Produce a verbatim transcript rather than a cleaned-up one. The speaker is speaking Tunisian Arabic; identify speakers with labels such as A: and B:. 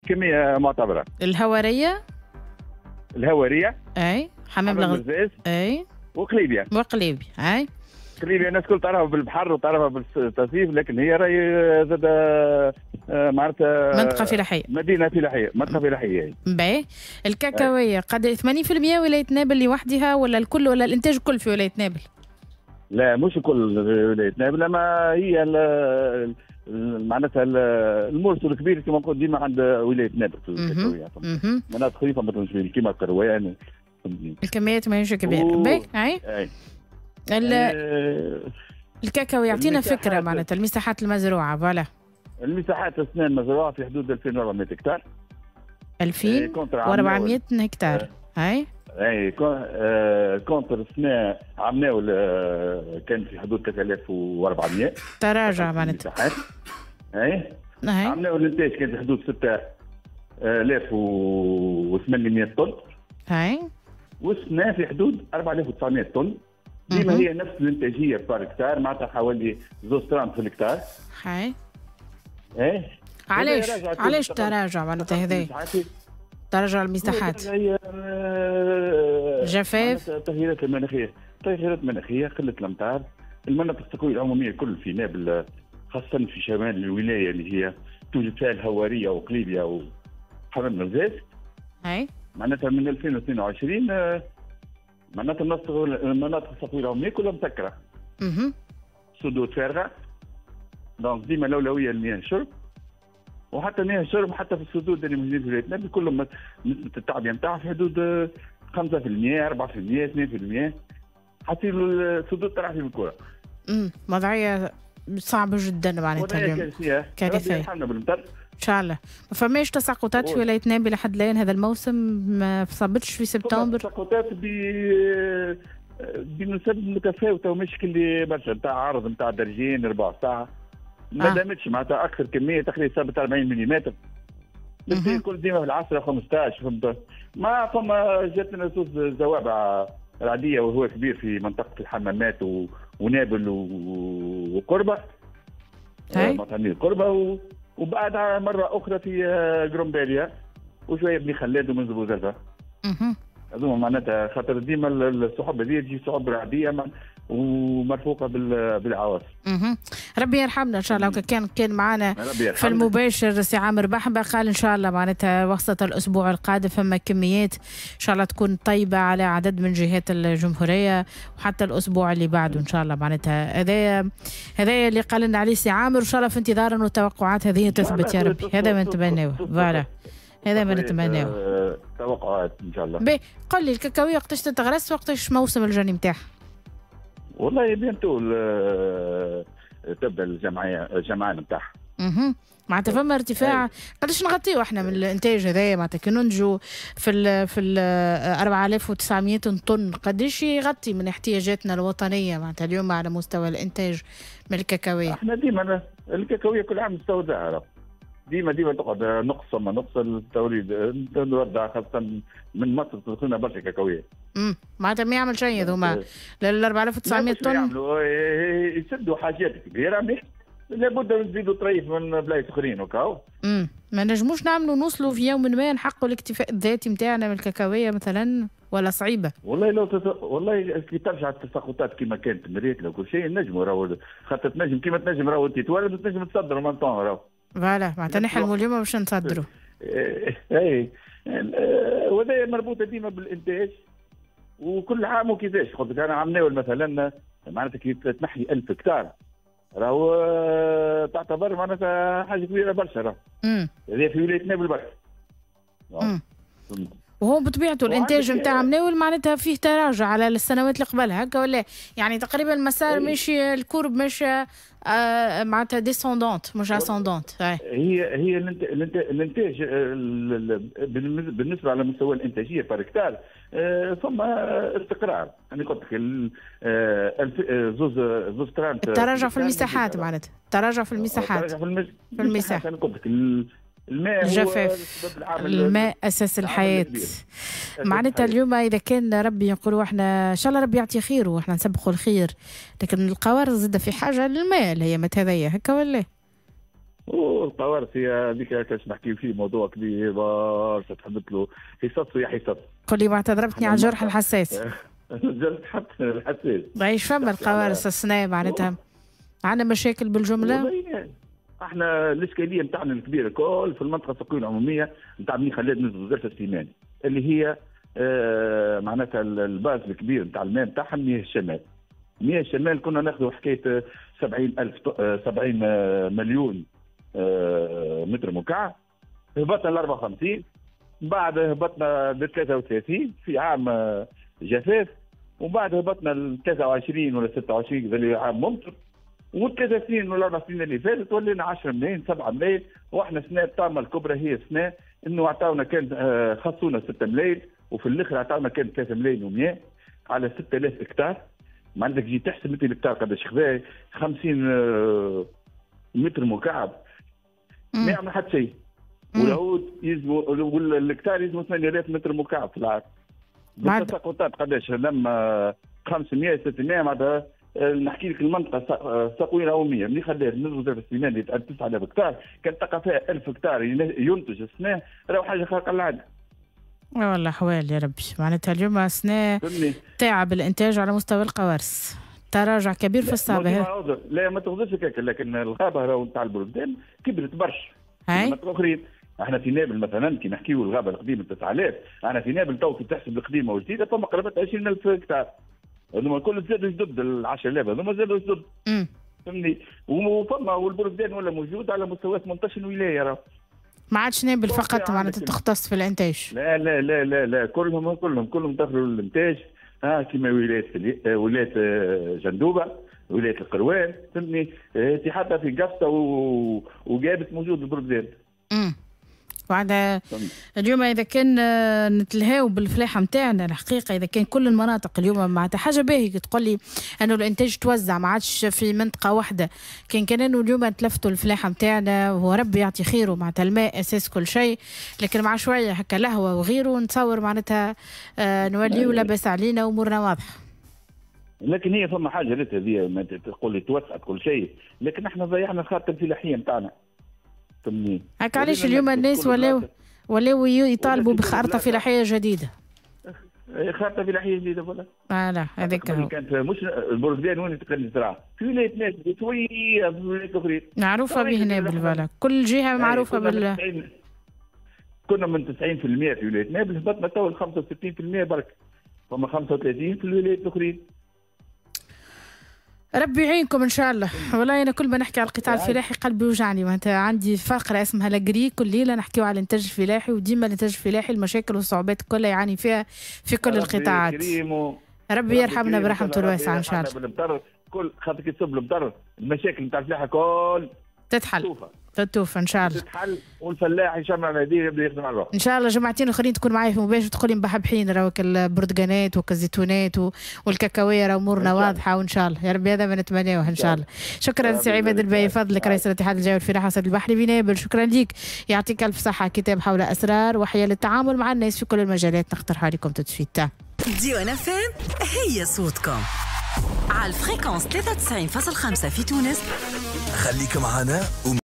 A: كمية معتبره.
B: الهواريه
A: الهواريه
B: اي حمام الغزاز اي
A: وقليبيا
B: وقليبيا اي.
A: قليبيا الناس الكل تعرفها بالبحر وتعرفها بالتصيف، لكن هي راهي زاد معناتها
B: منطقة فلاحية،
A: مدينة فلاحية، منطقة فلاحية.
B: باهي. الكاكاويه قد ثمانين بالمئة ولاية نابل لوحدها ولا الكل ولا الانتاج الكل في ولاية نابل؟
A: لا مش الكل في ولاية نابل، اما هي معناتها المرسل الكبير كما نقول ديما عند ولاية نابل في الكاكاويه. مناطق خفيفة مثلا كيما القروان.
B: الكميات ماهيش كبيرة. باهي. اي الكاكاو يعطينا فكرة معناتها المساحات المزروعه. voilà
A: المساحات السنة المزروعه في حدود ألفين وأربعمائة هكتار.
B: ألفين وأربعمائة هكتار. هاي
A: اي contre السنة عمناول كان في حدود ثلاثة آلاف وأربعمائة.
B: تراجع معناتها.
A: اي عمناول الانتاج كان في حدود ستة آلاف وثمانمائة طن.
B: هاي
A: والسنة في حدود أربعة آلاف وتسعمائة طن. ديما هي نفس الانتاجية par hectare، معناتها حوالي زوز طران في الهكتار.
B: هاي
A: ايه.
B: علاش علاش تراجع معناتها هذا؟ تراجع المساحات. جفاف،
A: التغييرات المناخية، التغييرات المناخية، قلة الامطار، المناطق السقويه العمومية الكل في نابل خاصة في شمال الولاية اللي هي توجد فيها الهواريه وقليبيا وحمام الغزاز.
B: اي
A: معناتها من ألفين واثنين وعشرين معناتها المناطق السقويه العمومية كلها مسكره.
B: اها.
A: سدود فارغة. donc ديما الاولوية لمياه الشرب، وحتى مياه الشرب حتى في السدود اللي موجودين في ولاية نابل كلهم نسبه التعبئه نتاعها في حدود خمسة بالمئة أربعة بالمئة اثنين بالمئة. حتى السدود طلع في الكره.
B: امم وضعية صعبة جدا معناتها اليوم.
A: كارثية. كارثية. ربي بالمطر.
B: ان شاء الله. ما فماش تساقطات في ولاية نابل لحد الان هذا الموسم؟ ما صابتش في سبتمبر؟
A: تساقطات ب بنسب متفاوتة ومش كل برشا، نتاع عرض نتاع درجين ربع ساعة. ما آه. دامتش معناتها اكثر كمية تقريبا صابت أربعين ملم. الكل ديما في العشرة خمسطاش فهمت. ما فما جاتنا زوز زوابع العادية وهو كبير في منطقة الحمامات و... ونابل و... وقربه. مطعمين قربه و... وبعدها مرة أخرى في قرمباليا وشوية بني خلاد ومن بوزرفة. هذوما معناتها خاطر ديما السحب هذه تجي سحب رعدية ومرفوقة بالعواصف.
B: ربي يرحمنا إن شاء الله. كان كان معنا في المباشر سي عامر بحبة قال إن شاء الله معناتها وسط الأسبوع القادم فما كميات إن شاء الله تكون طيبة على عدد من جهات الجمهورية، وحتى الأسبوع اللي بعده إن شاء الله معناتها هذا هذا اللي قال لنا عليه سي عامر. إن شاء الله في انتظار أنه التوقعات هذه تثبت يا ربي. هذا ما نتمناه. voilà هذا ما نتمناه.
A: توقعات ان شاء الله.
B: باهي قل لي الكاكاويه وقتاش تتغرس وقتاش موسم الجني نتاعها؟
A: والله bientôt تبدا الجمعية الجمعان نتاعها.
B: اها معناتها فما ارتفاع. قداش نغطيو احنا من الانتاج هذايا؟ معناتها كي ننجو في ال في ال أربعة آلاف وتسعمائة طن قداش يغطي من احتياجاتنا الوطنية معناتها اليوم على مستوى الانتاج من الكاكاويه؟
A: احنا ديما الكاكاويه كل عام نستوردها، ديما ديما تقعد نقص ثم نقص التوريد نودع خاصة من مصر تدخلنا برشا كاكاويه.
B: امم معناتها ما يعمل شيء هذوما لل أربعة آلاف وتسعمائة طن.
A: يعملوا يسدوا حاجات كبيرة، لابد نزيدوا طريف من بلايص اخرين وكاو.
B: امم ما نجموش نعملوا نوصلوا في يوم ما نحققوا الاكتفاء الذاتي نتاعنا من الكاكاويه مثلا ولا صعيبة؟
A: والله لو تس... والله كي ترجع التساقطات كما كانت مريت لو كل شيء نجموا راهو، خاطر تنجم كيما تنجم راهو انت تولد وتنجم تصدر même temps راهو.
B: voilà معناتها نحلموا اليوم باش نصدروا.
A: اي وهذا مربوطة ديما بالانتاج وكل عام وكيفاش. قلت لك انا عام ناول مثلا معناتها كي تنحي ألف هكتار راهو تعتبر معناتها حاجة كبيرة برشا راهو. هذه في ولاية نابل برك.
B: وهو بطبيعته الانتاج نتاع مناول معناتها فيه تراجع على السنوات اللي قبلها هكا ولا؟ يعني تقريبا المسار ماشي ال courbe ماشي آه معناتها descendante مش ascendante.
A: هي هي الانتاج بالنسبة على مستوى الانتاجية par hectare ثم استقرار. انا قلت لك زوز زوز ترانت
B: التراجع في المساحات معناتها التراجع في المساحات
A: التراجع في المساحات. انا قلت لك الماء
B: الجفاف، الماء اساس الحياة. معناتها اليوم اذا كان ربي نقولوا احنا ان شاء الله ربي يعطي خير واحنا نسبقوا الخير، لكن القوارض زاد في حاجة للماء اللي هي مات هذيا هكا ولا؟
A: والقوارص هي هذيك كاش نحكيو فيه موضوع كبير برشا، تحبت له حصص ويا حصص.
B: قول لي معناتها ضربتني على الجرح الحساس.
A: الجرح الحساس.
B: ايش فما القوارص السنة معناتها؟ عندنا مشاكل بالجملة؟
A: احنا الاشكالية نتاعنا الكبيرة الكل في المنطقة السوقية العمومية نتاع بني خلاد نزل زرفه سليمان اللي هي آه معناتها ال base الكبير نتاع الماء نتاعها مياه الشمال. مياه الشمال كنا ناخذوا حكاية سبعين ألف سبعين مليون آه متر مكعب، هبطنا ل أربعة وخمسين، بعد هبطنا ل ثلاثة وثلاثين في عام جفاف، ومن بعد هبطنا ل ثلاثة وعشرين ولا ستة وعشرين اللي عام ممطر، والثلاث سنين ولا اربع سنين اللي فاتت ولينا عشرة ملايين سبعة ملايين، واحنا سنة الطامة الكبرى هي سنة انه عطاونا كان خصونا ستة ملايين وفي الاخر عطاونا كان ثلاثة ملايين ومية على ستة آلاف هكتار. ما عندك جي تحسب انت الهكتار قداش خذا خمسين متر مكعب ما يعمل حتى شيء، والعود يلزموا والهكتار يلزموا ثمانية آلاف متر مكعب في العام. بالتساقطات قداش لما خمسمية ستمية معناتها نحكي لك المنطقة السقويه العمومية ملي خلات نزل في السنة اللي تسعة آلاف هكتار كان تلقى فيها ألف هكتار ينتج السنة راهو حاجة خارقة للعادة.
B: والله حوال يا ربي، معناتها اليوم السنة تعب الانتاج على مستوى القوارص، تراجع كبير في الصابه.
A: لا ما تاخذش هكاك، لكن الغابة راهو نتاع البلدان كبرت برشا. هاي الاخرين احنا في نابل مثلا كي نحكيو الغابة القديمة تسعة آلاف، احنا في نابل تو كي تحسب القديمة والجديده فما قرابة عشرين ألف هكتار. هذوما الكل زادوا جدد ال عشرة آلاف هذوما زادوا جدد. فهمني؟ وفما والبرزدان ولا موجود على مستوى ثمنطاش ولاية راه.
B: ما عادش نابل فقط معناتها تختص في الانتاج.
A: لا لا لا لا لا كلهم كلهم كلهم دخلوا للانتاج، ها كيما ولاية ولاية جندوبه، ولاية القروان، فهمتني؟ حتى في قفصه وجابت موجود البرزدان.
B: امم وعند اليوم اذا كان نتلهاو بالفلاحه نتاعنا الحقيقة، اذا كان كل المناطق اليوم معناتها حاجة باهيه تقول لي انه الانتاج توزع ما عادش في منطقة واحدة، كان كان انه اليوم تلفتوا الفلاحة نتاعنا وربي يعطي خيره معناتها الماء اساس كل شيء، لكن مع شوية هكا لهوه وغيره نتصور معناتها نوليو لاباس علينا وامورنا واضحة.
A: لكن هي فما حاجة ريت هذه ما تقول لي توسعت كل شيء، لكن احنا ضيعنا الخارطة الفلاحية نتاعنا.
B: هكا علاش اليوم الناس ولاو ولاو يطالبوا بخارطه فلاحية جديدة.
A: خارطة فلاحية جديدة voilà.
B: voilà هذاك هو.
A: كانت مش البرزدان وين تقدر تزرع في ولاية ناس شوية في ولايات اخرين.
B: معروفة به نابل voilà، كل جهة معروفة بال
A: كنا من تسعين بالمية في ولاية نابل هبطنا تو ل خمسة وستين بالمية برك، فما خمسة وثلاثين في الولايات الاخرين.
B: ربي يعينكم ان شاء الله. والله انا كل ما نحكي على القطاع الفلاحي قلبي يوجعني، معناتها عندي فقره اسمها l'agri كل ليلة نحكيو على الانتاج الفلاحي، وديما الانتاج الفلاحي المشاكل والصعوبات كلها يعاني فيها في كل القطاعات. ربي يرحمنا برحمته الواسعة ان شاء الله.
A: كل خاطر كي تصب المطر المشاكل نتاع الفلاحة كل
B: تتحل تتوفى ان شاء الله.
A: تتحل والفلاح يشمع على يديه يبدا يخدم على روحه.
B: ان شاء الله جمعتين اخرين تكون معايا في مباشر تقول لي مبحبحين راهو البرتقانات والزيتونات والكاكاويه راه امورنا واضحة وان شاء الله يا ربي هذا ما نتمناه ان شاء الله. شكرا سي عماد الباهي فضلك رئيس الاتحاد الجوي الفلاحة والصيد البحري بنابل، شكرا ليك يعطيك الف صحة. كتاب حول اسرار وحيل التعامل مع الناس في كل المجالات نقترحها لكم tout de suite.
C: ديوان اف ام هي صوتكم على ال fréquence ثلاثة وتسعين فاصلة خمسة في تونس.
D: خليك معنا.